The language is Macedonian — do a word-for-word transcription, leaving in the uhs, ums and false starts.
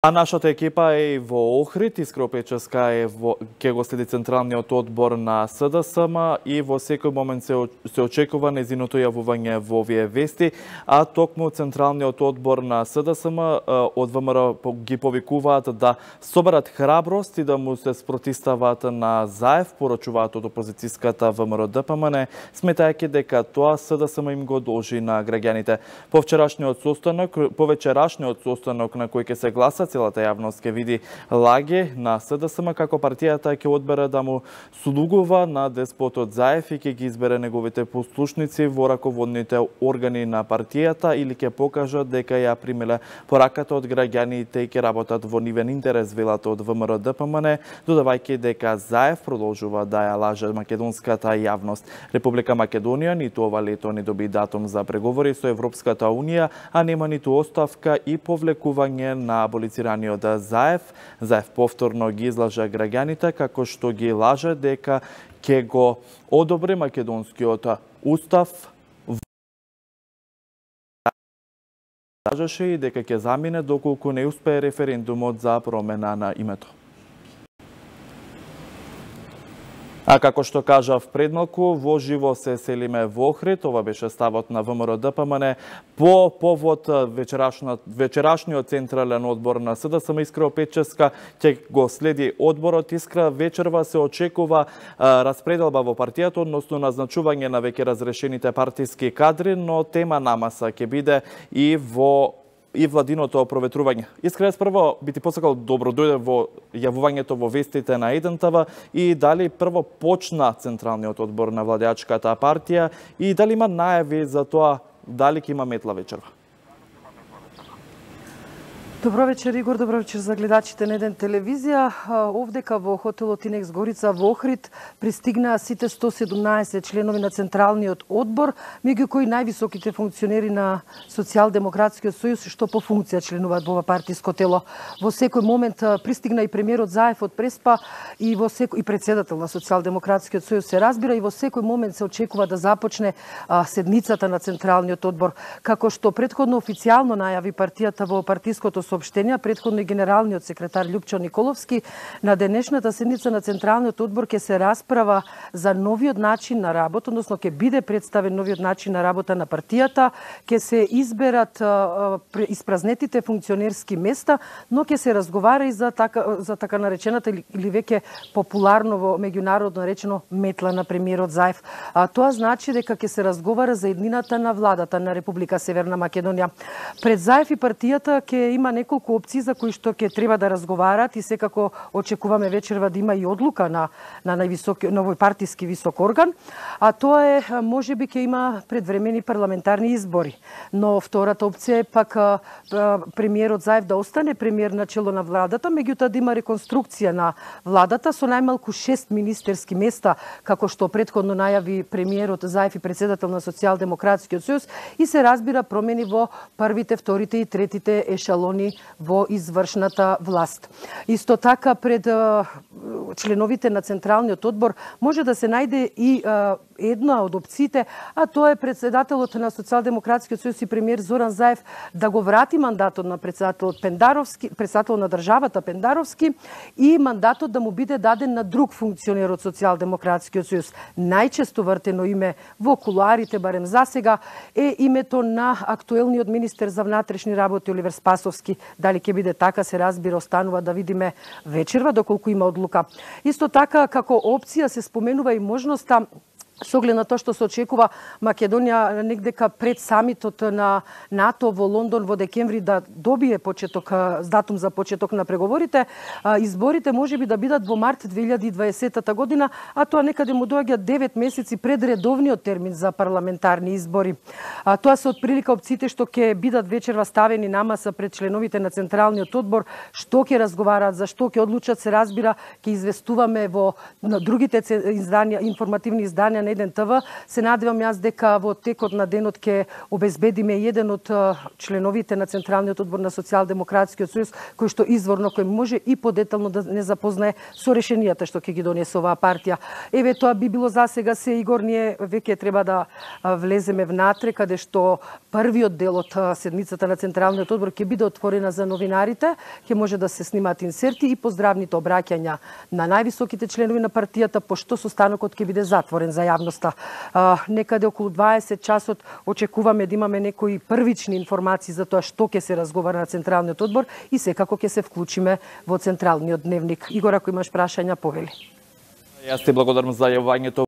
А нашата екипа е во Охрид, Искра Опеческа е во ке го следи Централниот одбор на С Д С М и во секој момент се, се очекува незиното јавување во овие вести, а токму Централниот одбор на С Д С М од В М Р ги повикуваат да соберат храброст и да му се спротистават на Заев, порачуваат од опозицијската В М Р Д П М Н, сметајќи дека тоа С Д С М им го должи на граѓаните. По вчерашниот состанок, по вечерашниот состанок на кој ќе се гласа, целата јавност ќе види лаги на С Д С М како партијата ќе одбере да му слугува на деспотот Заев и ќе ги избере неговите послушници во раководните органи на партијата или ќе покажат дека ја примиле пораката од граѓаните и ќе работат во нивен интерес, велат од В М Р Д П М Н, додавајќи дека Заев продолжува да ја лаже македонската јавност. Република Македонија ниту ова лето не доби датум за преговори со Европската Унија, а нема ниту оставка и повлекување на аболицираниот Заев. Заев повторно ги излажа граѓаните како што ги лаже дека ќе го одобри македонскиот устав, лажеше и дека ќе замине доколку не успее референдумот за промена на името. А како што кажав предмалку, во живо се селиме во Охрид. Ова беше ставот на В М Р Д П М Н по повод вечерашниот централен одбор на С Д С М. Искра Опеческа ќе го следи одборот. Искра, вечерва се очекува а, распределба во партијата, односно назначување на веќе разрешените партиски кадри, но тема намаса ќе биде и во и владиното проветрување. Искрено прво би ти посакал добро дојде во јавувањето во вестите на еден Т В и дали прво почна Централниот одбор на владеачката партија и дали има најави за тоа дали ќе има метла вечерва? Добро вечер, Игор, добро вечер за гледачите на еден телевизија. Овдека во хотелот Инекс Горица во Охрид пристигнаа сите сто седумнаесет членови на Централниот одбор, меѓу кои највисоките функционери на Социјалдемократскиот сојуз што по функција членуваат во ова партиско тело. Во секој момент пристигна и премиерот Заев од Преспа и во секој и председател на Социјалдемократскиот сојуз се разбира и во секој момент се очекува да започне а, седницата на Централниот одбор, како што претходно официјално најави партијата во партиското соопштенија, претходно и генералниот секретар Љупчо Николовски. На денешната седница на Централниот одбор ќе се расправа за новиот начин на работа, односно ќе биде представен новиот начин на работа на партијата, ќе се изберат а, испразнетите функционерски места, но ќе се разговара и за така, за така наречената или, или веќе популарно во меѓународно речено метла на премиерот Заев. А, тоа значи дека ќе се разговара за еднината на владата на Република Северна Македонија. Пред Заев и партијата ќе има неколку опции за кои што ќе треба да разговараат и секако очекуваме вечерва да има и одлука на на највисоки новој партиски висок орган, а тоа е можеби ќе има предвремени парламентарни избори. Но втората опција е пак а, премиерот Заев да остане премиер на чело на владата, меѓутоа да има реконструкција на владата со најмалку шест министерски места, како што претходно најави премиерот Заев и председател на Социјалдемократскиот сојуз, и се разбира промени во првите, вторите и третите ешалони во извршната власт. Исто така пред а, членовите на Централниот одбор може да се најде и а, една од опциите, а тоа е председателот на Социјалдемократскиот сојуз и премиер Зоран Заев да го врати мандатот на председателот Пендаровски, председател на државата Пендаровски, и мандатот да му биде даден на друг функционер од Социјалдемократскиот сојуз. Најчесто вртено име во кулуарите, барем засега, е името на актуелниот министер за внатрешни работи Оливер Спасовски. Дали ќе биде така, се разбира, останува да видиме вечерва доколку има одлука. Исто така, како опција се споменува и можноста со оглед на тоа што се очекува Македонија негдека пред самитот на НАТО во Лондон во декември да добие почеток, датум за почеток на преговорите, изборите можеби да бидат во март две илјади и дваесета година, а тоа некаде му доаѓа девет месеци пред редовниот термин за парламентарни избори. А, тоа се отприлика опциите што ќе бидат вечерва ставени на маса пред членовите на Централниот одбор, што ќе разговараат, за што ќе одлучат, се разбира, ќе известуваме во на другите изданија, информативни изданија на еден ТВ. Се надевам јас дека во текот на денот ќе обезбедиме еден од членовите на Централниот одбор на Социјалдемократскиот сојуз, кој што изворно кој може и подетално да не запознае со решенијата што ќе ги донесе оваа партија. Еве тоа би било за сега се, Игор, ние веќе треба да влеземе внатре, каде што првиот дел од седмицата на Централниот одбор ќе биде отворена за новинарите, ќе може да се снимаат инсерти и поздравните обраќања на највисоките членови на партијата, пошто состанокот ќе биде затворен за јавноста. Некаде околу дваесет часот очекуваме да имаме некои првични информации за тоа што ќе се разговара на Централниот одбор и секако ќе се вклучиме во Централниот дневник. Игор, ако имаш прашања, повели. Јас ти благодарам за јавањето.